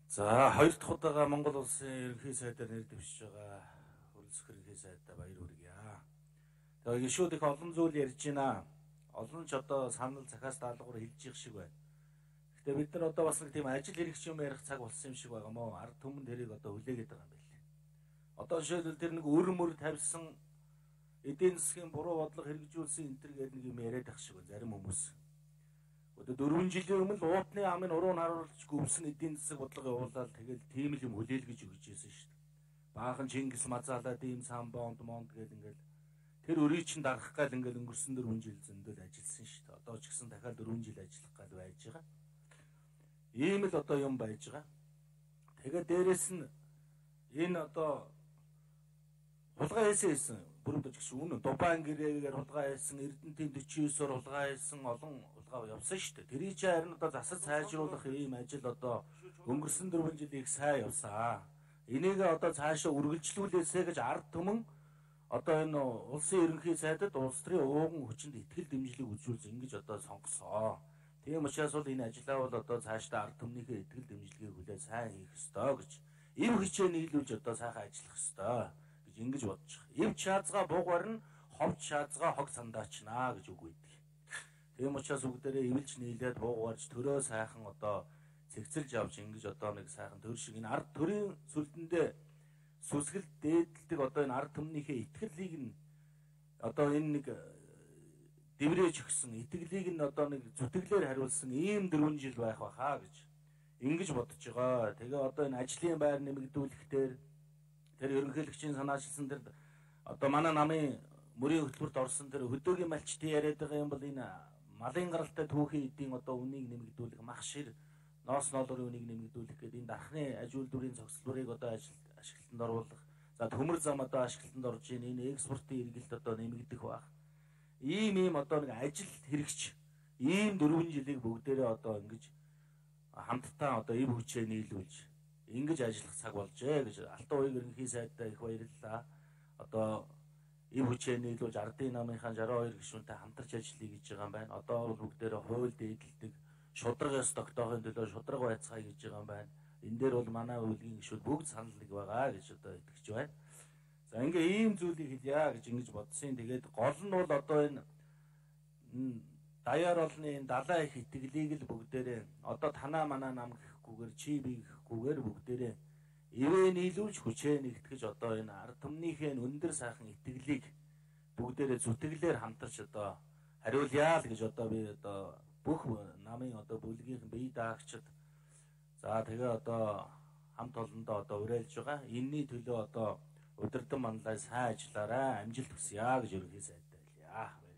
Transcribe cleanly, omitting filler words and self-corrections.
За хоёр дахь удаага Монгол улсын ерөнхий сайдаар нэр дэвшиж байгаа хөрөлсөх ерөнхий сайдаа баяр хүргье. Тэгээ гişүүд их олон зүйл ярьж байна. Олон ч одоо санал захаас даалгавар хэлж их шиг байна. Гэтэ бид нар одоо бас нэг тийм ажил хэрэгч юм ярих цаг болсон юм шиг байгаа мó. Ард түмэн тэрийг одоо хүлээгээд байгаа юм байна. Одоо жишээлбэл тэр нэг өрмөр тавьсан эдийн засгийн буруу бодлого хэрэгжүүлсэн энэ төр гэдэг нэг юм яриад ах шиг байна зарим хүмүүс. Одоо 4 жилийн өмнө уутны амын уруу харуулж гүвсэн эдийн засаг бодлого явуулаад тэгэл тийм л юм хүлээлгэж өгч ийсэн шүү дээ. Баахан Чингис мазаалаад ийм самбонд монд гэл ингээл тэр өрийг чинь дарах гал ингээл өнгөрсөн 4 жил зөндөл ажилласан шүү дээ. Одоо ч гэсэн дахиад 4 жил ажиллах гал байж байгаа. Ийм л одоо юм байж байгаа. Тэгээ дээрэс нь энэ одоо хулгай хийсэн бүрдэж гисэн үнэ Дубайн гэрээгээр хулгай хийсэн Эрдэнэтийн 49-оор хулгай хийсэн олон хулгай явсан шүү дээ. Тэрий чи харин одоо засаж сайжруулах ийм ажил одоо өнгөрсөн 4 жил их сайн явсан. Энийг одоо цаашаа үргэлжлүүлээсэ гэж ард түмэн одоо энэ улсын ерөнхий сайдад улс төрийн ууган хүчинд ихтгэл дэмжлэг үзүүлж ингэж одоо сонгосоо. Тийм учраас бол энэ ажлаа бол одоо цаашдаа ард түмнийхээ ихтгэл дэмжлэгийг хүлээн сайн хийх ёстой гэж эв хичээл нийлүүлж одоо сайхан ажиллах ёстой гэж ингэж бодож байгаа. Эв чаазгаа бууг барна, ховч чаазгаа хог сандаачнаа гэж үг өгдөг. Тийм учраас бүгдээрээ эвэлж нийлээд бууг барж төрөө сайхан одоо цэгцэлж авч ингэж одоо нэг сайхан төр шиг энэ ард төрийн сүлдэндээ сүсгэл дээдэлдэг одоо энэ ард түмнийхээ итгэлийг нь одоо энэ нэг дэврэж өгсөн итгэлийг нь одоо нэг зүтгэлээр хариулсан ийм 4 жил байх байхаа гэж ингэж бодож байгаа. Тэгээ одоо энэ ажлын байр нэмэгдүүлэхтэр тэр ерөнхийлөгчийн санаачилсан тэр одоо манай намын мөрийн хөтөлбөрт орсон тэр хөдөөгийн малчтын яриад байгаа юм бол энэ малын гаралтай түүхийн эдийн одоо үнийг нэмэгдүүлэх мах шир ноос ноолорын үнийг нэмэгдүүлэх гэдэг энэ дархны аж үйлдвэрийн зохицлуудыг одоо ашиглалтанд оруулах. За төмөр зам одоо ашиглалтанд орж ийн энэ экспортын эргэлт одоо нэмэгдэх баг. Ийм одоо нэг ажил хэрэгч ийм 4 жилийг бүгдээрээ одоо ингэж хамтдаа одоо эв хүчээ нийлүүлж ингэж ажиллах цаг болжээ гэж Алтан уян ерөнхий сайдаа их баярлалаа. Одоо эв хүчээ нийлүүлж ардын намынхаа 62 гишүүнтэй хамтарч ажиллая гэж байгаа юм байна. Одоо бол бүгдээрээ хууль дээдэлдэг шударгаас тогтоохын төлөө шударга байцгаая гэж байгаа юм байна. Энэ дээр бол манай үлгийн гишүүд бүгд санал нэг байгаа гэж одоо итгэж байна. За ингээ ийм зүйлийг хэлье гэж ингэж бодсон. Тэгээд гол нь бол одоо энэ даяар олны энэ далай их итгэлийг л бүгдээрээ одоо танаа манаа нам гэхгүйгээр чи би гэхгүйгээр бүгдээрээ ивэ нийлүүлж хүчээ нэгтгэж одоо энэ ард түмнийхээ өндөр сайхан итгэлийг бүгдээрээ зүтгэлээр хамтарч одоо хариулъя л гэж одоо би одоо бүх намын одоо бүлгийнхэн бие даагчид за тэгээ одоо хамт олондоо одоо уриалж байгаа. Энэний төлөө одоо удирдан манлай сайн ажиллаарай, амжилт хүсье гэж ерөнхий сайдаа хэлье.